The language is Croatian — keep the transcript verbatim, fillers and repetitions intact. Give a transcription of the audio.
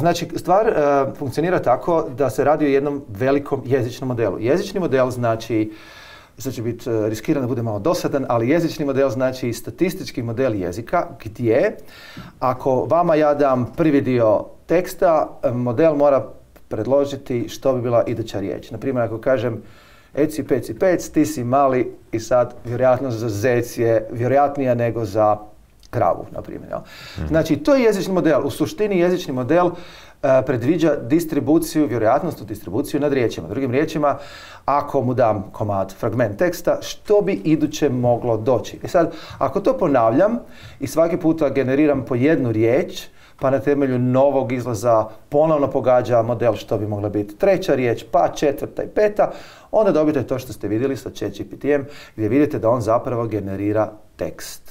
Znači, stvar uh, funkcionira tako da se radi o jednom velikom jezičnom modelu. Jezični model znači, sad će biti uh, riskiran da bude malo dosadan, ali jezični model znači statistički model jezika gdje ako vama ja dam prvi dio teksta, model mora predložiti što bi bila iduća riječ. Naprimjer, ako kažem eci, peci, pec, ti si mali i sad vjerojatno za zec je vjerojatnija nego za kravu, na primjer. Mm. Znači, to je jezični model. U suštini jezični model uh, predviđa distribuciju, vjerojatnost u distribuciju nad riječima. Drugim riječima, ako mu dam komad, fragment teksta, što bi iduće moglo doći? I sad, ako to ponavljam i svaki puta generiram po jednu riječ, pa na temelju novog izlaza ponovno pogađa model što bi mogla biti treća riječ, pa četvrta i peta, onda dobijete to što ste vidjeli sa ChatGPT-em, gdje vidite da on zapravo generira tekst.